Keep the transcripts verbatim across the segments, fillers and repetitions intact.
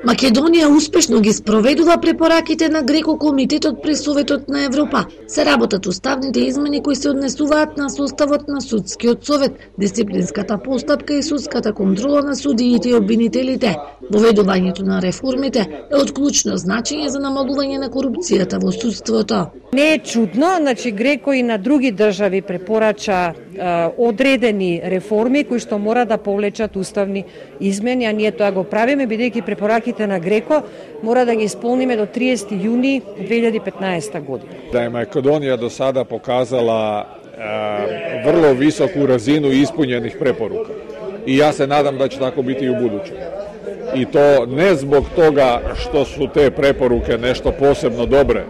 Македонија успешно ги спроведува препораките на Греко Комитетот при Советот на Европа. Се работат уставните измени кои се однесуваат на составот на судскиот совет, дисциплинската постапка и судската контрола на судиите и обвинителите. Воведувањето на реформите е од клучно значење за намалување на корупцијата во судството. Не е чудно, значи Греко и на други држави препорача е, одредени реформи кои што мора да повлечат уставни измени, а ние тоа го правиме бидејќи препораките на Греко мора да ги исполниме до триесети јуни две илјади и петнаесета година. Да е Македонија до сада показала е, врло високу разину исполнених препорука. И јас се надам да ќе тако бити и у будуće. И то не због тога што су те препоруке нешто посебно добре,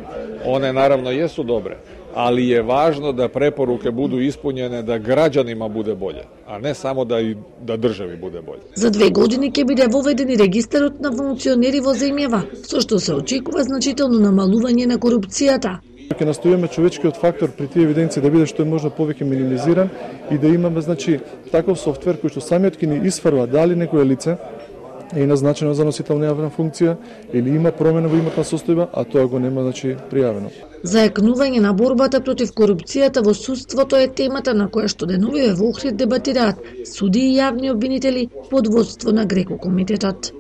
one наравно јесу добре, ali je važno da preporuke budu ispunjene da građanima bude bolje, a ne samo da i da državi bude bolje. За две години ќе биде воведен и регистарот на функционери во земјава, со што се очекува значително намалување на корупцијата. Ќе настојаме човечкиот фактор при тие евиденции да биде што е можно повеќе минимизиран и да имаме значи таков софтвер кој што самиот ќе ни исфрла дали некое лице е назначено за носител на јавна функција или има промена во имотна состојба, а тоа го нема значи пријавено. Зајакнување на борбата против корупцијата во судството е темата на која што деновиве во Охрид дебатираат суди и јавни обвинители под водство на Греко Комитетот.